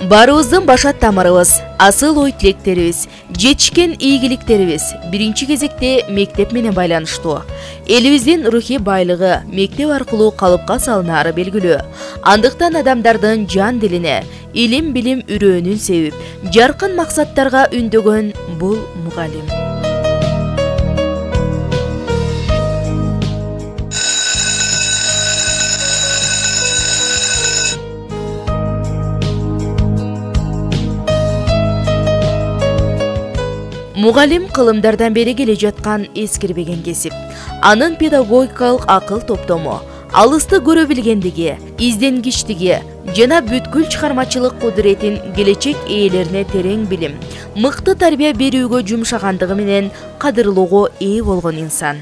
Баарыбыздын башат тамырыбыз, асыл ой тилектерибиз, жетишкен ийгиликтерибиз биринчи кезекте мектеп менен байланыштуу. Элибиздин рухий байлыгы мектеп аркылуу калыпка салынары белгилүү. Андыктан адамдардын жан дилине илим билим үрөөнүн себип, жаркын максаттарга үндөгөн бул мугалим. Мугалим кылымдардан бери келе жаткан эскирбеген кесип. Анын педагогикалык акыл топтому, алысты көрө билгендиги, изденгичтиги жана бүткүл чыгармачылык кудуретин келечек ээлерине терең билим, мыкты тарбия берүүгө жумшагандыгы менен кадырлоого ээ болгон инсан.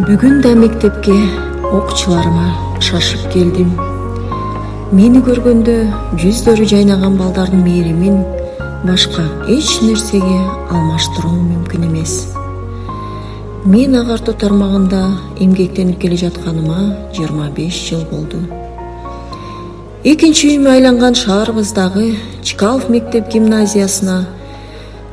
Бүгүн да мектепке окуучуларыма шашып келдим. Мени көргөндө жүздөрү жайнаган балдардын мээримин башка эч нерсеге алмаштыруу мүмкүн эмес. Мен агартуу тармагында эмгектенип келе жатканыма 25 жыл болду. Экинчи үйүмө айланган шаарыбыздагы Чкалов мектеп гимназиясына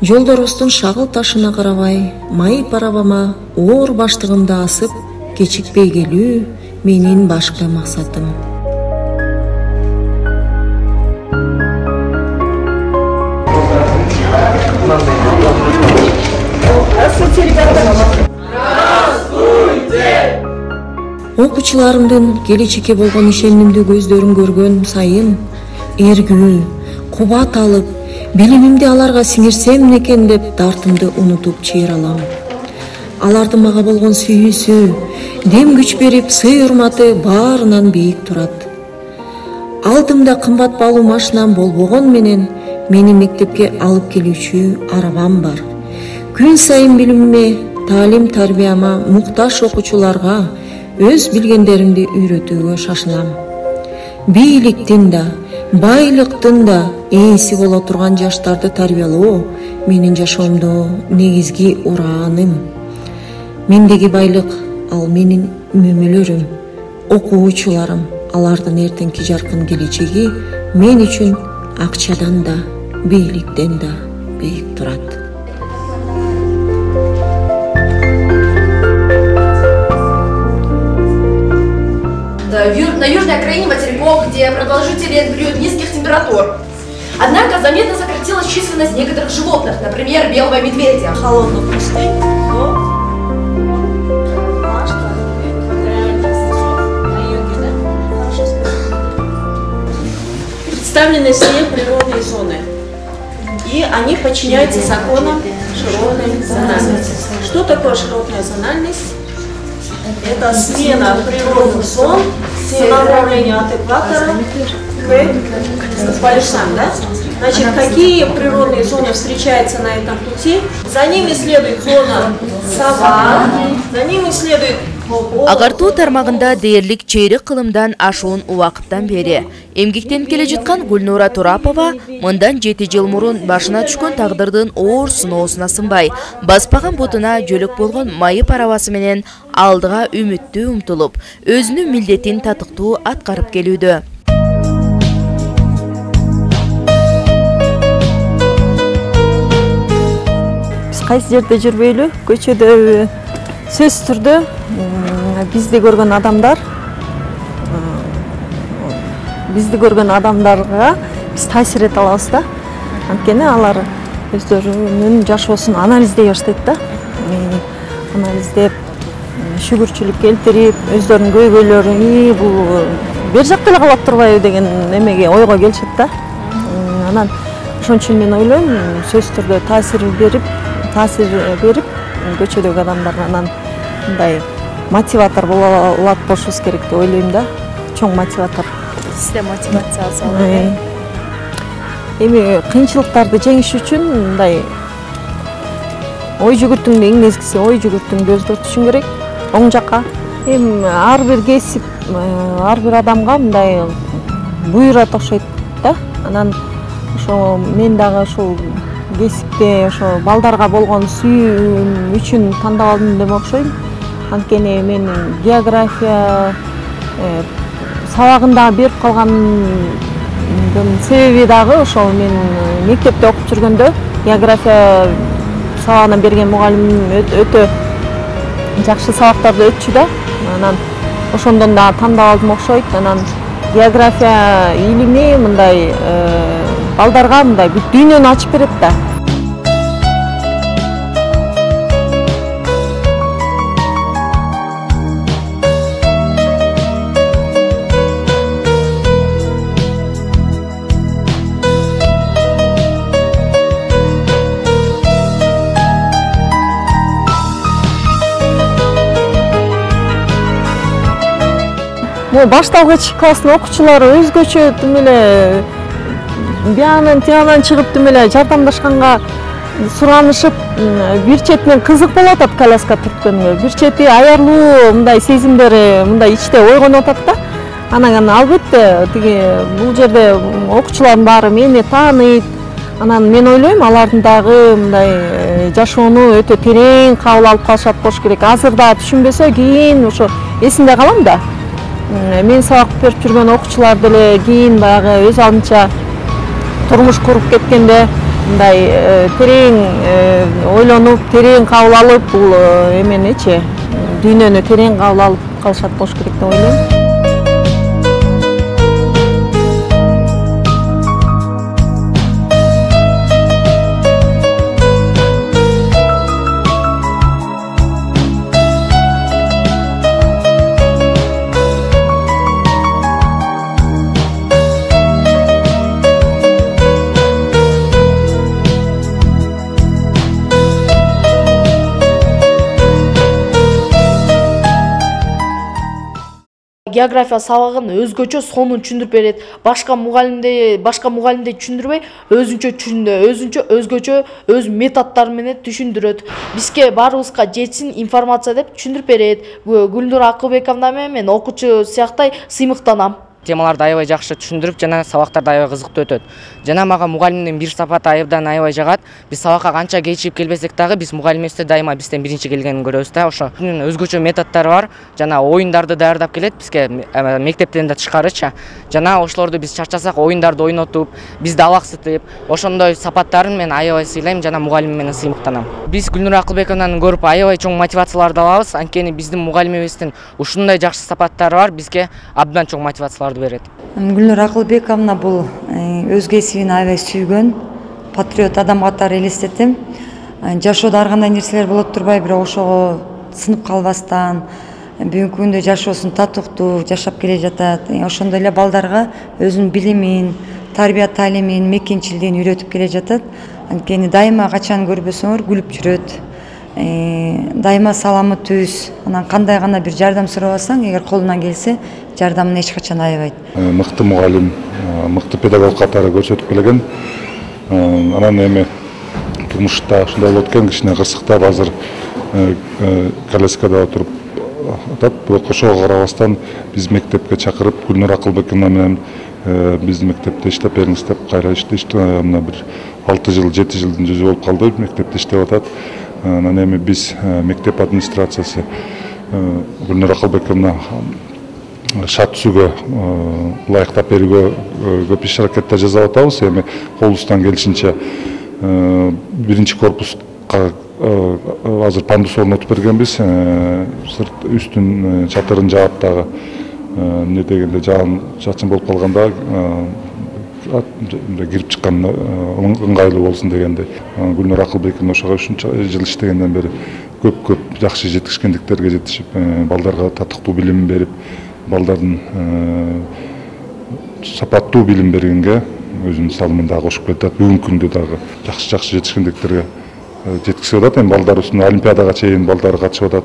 жолдорубуздун шагыл ташына карабай, майып арабама оор баштыгымды асып, кечикпей келүү менин башкы максатым. Окуучуларымдын келечекке болгон ишенимдүү көздөрүн көргөн сайын эргүү, кубат алып, билимимди аларга сиңирсем экен деп дартымды унутуп чыйралам. Алардын мага болгон сүйүүсү, дем күч берип, сый-урматы баарынан бийик турат. Алдымда кымбат баалуу машинам болбогон менен мени мектепке алып келүүчү арабам бар. Күн сайын билимиме, таалим тарбияма мукташ окуучуларга өз билгендеримди үйрөтүүгө шашылам. Бийликтин да, байлыктын да ээси боло турган жаштарды тарбиялоо менин жашоомдо негизги урааным. Мендеги байлык ал менин мөмөлөрүм, окуучуларым, алардын эртеңки жаркын келечеги мен үчүн акчадан да, бийликтен да бийик турат. На южной окраине материков, где продолжительный период низких температур. Однако заметно сократилась численность некоторых животных, например, белого медведя. Холодную пустыню. Представлены все природные зоны, и они подчиняются законам широтной зональности. Что такое широтная зональность? Это смена природных зон по направлению от экватора к полюсам, да? Значит, какие природные зоны встречаются на этом пути? За ними следует зона саван, за ними следует Агартуу тармагында дээрлик чейрек кылымдан ашуун убакыттан бери эмгектенип келе жаткан Гүлнура Турапова мындан 7 жыл мурун башына түшкөн тагдырдын оор сыноосуна сынбай, баспаган бутуна жөлөк болгон майып арабасы менен алдыга үмүттүү умтулуп, өзүнүн милдетин татыктуу аткарып келүүдө. Биз кайсы жерде жүрбөйлү, көчөдө сөзсүз түрдө бизди көргөн адамдарга биз таасир эте алабыз да. Анткени алар өздөрүнүн жашоосун анализдей баштайт да. Анализдеп, шүгүрчүлүк келтирип, өздөрүнүн көйгөйлөрүн бул бер жакта эле калып турбайбы деген эмеге ойго келишет да. Анан ошон үчүн мен ойлойм, сөзсүз түрдө таасир берип көчөдөгү адамдарга анан мындай мотиватор боло алат болушубуз керек деп ойлойм да. Чоң мотиватор. Сизде мотивация алсаңыз. Эми кыйынчылыктарды жеңиш үчүн мындай ой жүгүртүүңдү, инглискиси ой жүгүртүүңдү өзгөртүшүң керек оң жакка. Эми ар бир кесип, ар бир адамга мындай буйрат окшойт да. Анан ошо мен дагы ушул кесипте ошо балдарга болгон сүйүүм үчүн тандап алдым деп окшойм. Анткени мен география сабагында берип калгандын себеби дагы ошол мен мектепте окуп жүргөндө география сабагынан берген мугалимим өтө жакшы сабактарды өтчү да. Анан ошондон да тандап алдым окшойт. Анан география илими мындай балдарга мындай бүт дүйнөнү ачып берет да. Башталгыч класстын окуучулары өзгөчө тим эле биянан тиянан чыгып тим эле жардамдашканга суранышып, бир четинен кызык болуп атат коляска түрткөнгө, бир чети аярлуу мындай сезимдери мындай ичте ойгонуп атат да. Анан албетте тиги бул жерде окуучулардын баары мени тааныйт. Анан мен ойлойм, алардын дагы мындай жашоону өтө терең кабыл алып калышат болуш керек. Азырда түшүнбөсө кийин ошо эсинде калам да. Мен сабак берип жүргөн окуучулар деле кийин баягы өз алдынча турмуш куруп кеткенде мындай терең ойлонуп, терең кабыл алып, бул эменичи дүйнөнү терең кабыл алып калышат болуш керек деп ойлойм. География сабагын өзгөчө сонун түшүндүрүп берет. Башка мугалимдей түшүндүрбөй, өзгөчө өз методдору менен түшүндүрөт. Бизге баарыбызга жетсин информация деп түшүндүрүп берет. Гүлнура Акылбековна мен окуучу сыяктай сыймыктанам. Темаларды аябай жакшы түшүндүрүп, жана сабактарды аябай кызыктуу өтөт. Жана мага мугалимдин бир сапаты айыбдан аябай жагат. Биз сабакка канча кечигип келбесек дагы, биз мугалимибизде дайыма бизден биринчи келгенин көрөбүз да. Ошо өзгөчө методдору бар. Жана оюндарды даярдап келет бизге мектептен да тышкарычы. Жана ошолорду биз чарчасак оюндарды ойнотуп, бизди алаксытып, ошондой сапаттарын мен аябай сыйлайм, жана мугалимим менен сыймыктанам. Биз Гүлнура Акылбековнаны көрүп аябай чоң мотивацияларды алабыз. Анткени биздин мугалимибиздин ушундай жакшы сапаттары бар, бизге абдан чоң мотивацияларды берет. Гүлнура Акылбековна бул өз кесибин аябай сүйгөн, патриот адам катары элестетем. Жашоодо ар кандай нерселер болот турбай, бирок ошого сынып калбастан, бүгүнкү күндө жашоосун татыктуу жашап келе жатат. Ошондой эле балдарга өзүнүн билимин, тарбия таалимин, мекенчилдигин үйрөтүп келе жатат. Анткени дайыма качан көрбөсөңөр күлүп жүрөт. Дайыма саламы түз. Анан кандай гана бир жардам сурабасаң, эгер колунан келсе, жардамын эч качан аябайт. Мыкты мугалим, мыкты педагог катары көрсөтүп келген. Анан эми турмушта ушундай болот экен, кичине кырсыктап азыр коляскада отуруп атат. Бирок ошого карабастан биз мектепке чакырып, Гүлнура Акылбековна менен биздин мектепте иштеп бериңиз деп кайра иштештик. Мына бир 6 жыл, 7 жылдын жүзү болуп калды мектепте иштеп атат. Анан эми биз мектеп администрациясы Гүлнура Акылбековна шат түзүүгө ылайыктап берүүгө көп иш аракеттер жасап атабыз. Эми колубуздан келишинче биринчи корпуска азыр пандус орнотуп бергенбиз. Үстүн чатырын жаап дагы эмне дегенде жаан чачын болуп калганда кирип чыккан ыңгайлуу болсун дегенде. Гүлнура Акылбековна ошого ушунча жыл иштегенден бери көп жакшы жетишкендиктерге жетишип, балдарга татыктуу билим берип, балдардын сапаттуу билим бергенге өзүнүн салымын дагы кошуп келатат. Бүгүнкү күндө дагы жакшы жетишкендиктерге жеткизип атат. Эми балдар үстүнө олимпиадага чейин балдар катышып атат.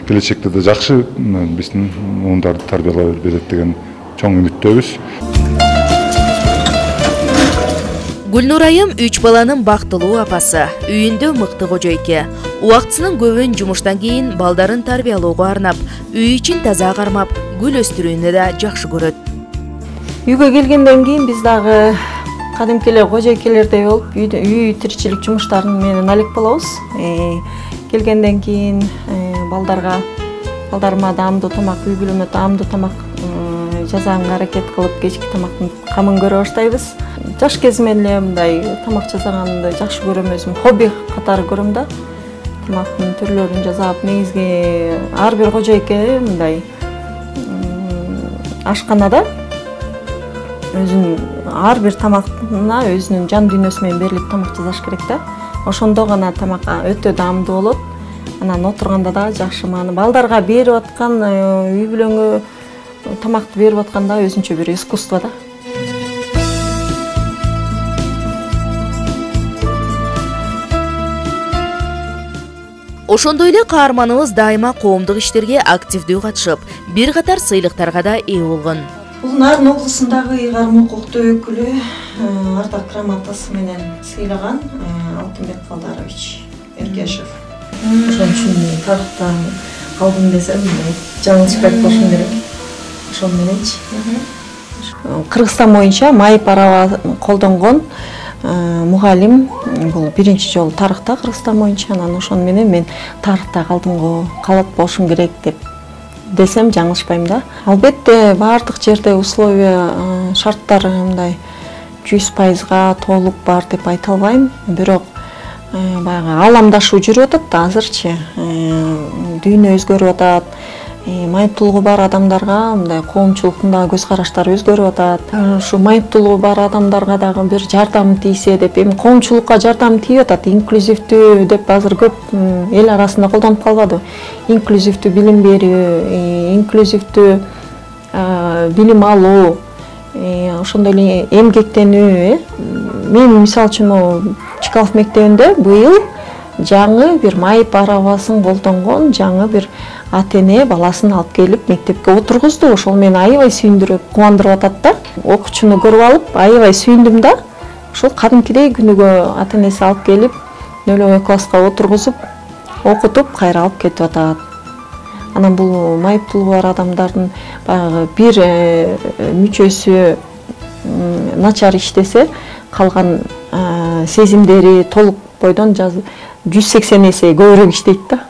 келечекте да жакшы биздин уюмдарды тарбиялай берет деген чоң үмүттөбүз. Гүлнур айым 3 баланын бактылуу апасы, үйүндө мыкты кожойке. Убактысынын көбүн жумуштан кийин балдарын тарбиялоого арнап, үй ичин таза кармап, гүл өстүрүүнү да жакшы көрөт. Үйгө келгенден кийин биз дагы кадимки эле кожойкелердей болуп, үй тиричилик жумуштарын менен алек болобуз. Келгенден кийин балдарыма даамдуу тамак, үй бүлөмө даамдуу тамак жасаганга аракет кылып, кечки тамактын камын көрө баштайбыз. Жаш кезимден эле мындай тамак жасаганды жакшы көрөм, өзүм хобби катары көрөм да. Тамактын түрлөрүн жасап, негизги ар бир кожойке мындай ашканада өзүнүн ар бир тамагына өзүнүн жан дүйнөсү менен берилип тамак жасаш керек да. Ошондо гана тамак өтө даамдуу болот. Анан отурганда да жакшы мааны. Балдарга берип аткан, үй бүлөңө тамакты берип атканда өзүнчө бир искусство да. Ошондой эле каарманыбыз дайыма коомдук иштерге активдүү катышып, бир катар сыйлыктарга да ээ болгон. Бул Нарын облусундагы ыйгарым укуктуу өкүлү ардак грамотасы менен сыйлаган Алтынбек Калдарович Эргешев. Ошон үчүн тарыхтан калдым десем, жаңылышпай болушум керек. Ошон мененчи. Кыргызстан боюнча майып араба колдонгон мугалим бул биринчи жолу тарыхта Кыргызстан боюнча. Анан ошон менен мен тарыхта калат болушум керек десем жаңылышпайм да. Албетте баардык жерде условия, шарттар мындай 100%га толук бар деп айта албайм. Бирок баягы ааламдашуу жүрүп атат да азырчы. Дүйнө өзгөрүп атат. Майыптуулугу бар адамдарга мындай коомчулуктун да көз караштары өзгөрүп атат. Ушу майыптуулугу бар адамдарга дагы бир жардам тийсе деп, эми коомчулукка жардам тийип атат. Инклюзивдүү деп азыр көп эл арасында колдонуп калбады. Инклюзивдүү билим берүү, инклюзивдүү билим алуу, ошондой эле эмгектенүү. Мен мисалы үчүн Чкалов мектебинде быйыл жаңы бир майып арабасын колдонгон жаңы бир ата-эне баласын алып келип мектепке отургузду. Ошол мени аябай сүйүндүрүп, кубандырып атат да. Окуучуну көрүп алып, аябай сүйүндүм да. Ошол кадимкидей күнүгө ата-энеси алып келип, нөлөмө класска отургузуп, окутуп, кайра алып кетип атат. Анан бул майыптуулугу бар адамдардын баягы бир мүчөсү начар иштесе, калган сезимдери толук бойдон 180 эсе көбүрөөк иштейт да.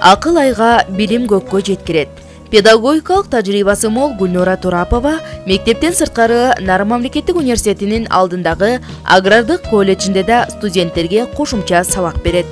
Акыл айга, билим көккө жеткирет. Педагогикалык тажрыйбасы мол Гүлнура Турапова мектептен сырткары Нарын мамлекеттик университетинин алдындагы агрардык колледжинде да студенттерге кошумча сабак берет.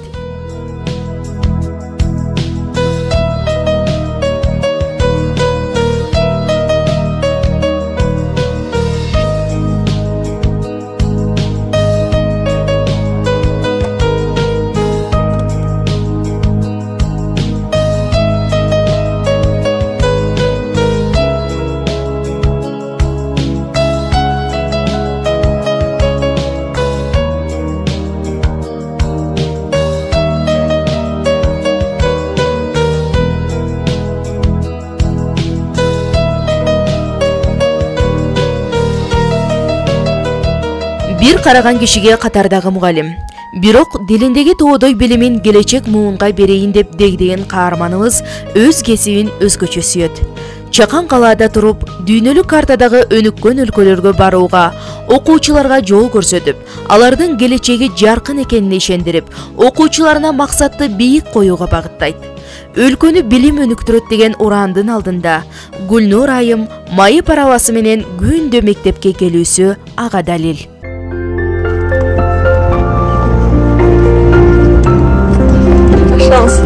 Бир караган кишиге катардагы мугалим. Бирок дилиндеги тоодой билимин келечек муунга берейин деп дегдеген каарманыбыз өз кесибин өзгөчө сүйөт. Чакан калаада туруп, дүйнөлүк картадагы өнүккөн өлкөлөргө барууга, окуучуларга жол көрсөтүп, алардын келечеги жаркын экенине ишендирип, окуучуларына максатты бийик коюуга багыттайт. Өлкөнү билим өнүктүрөт деген урандын алдында Гүлнур айым майып арабасы менен күндө мектепке келүүсү ага далил. Шанс.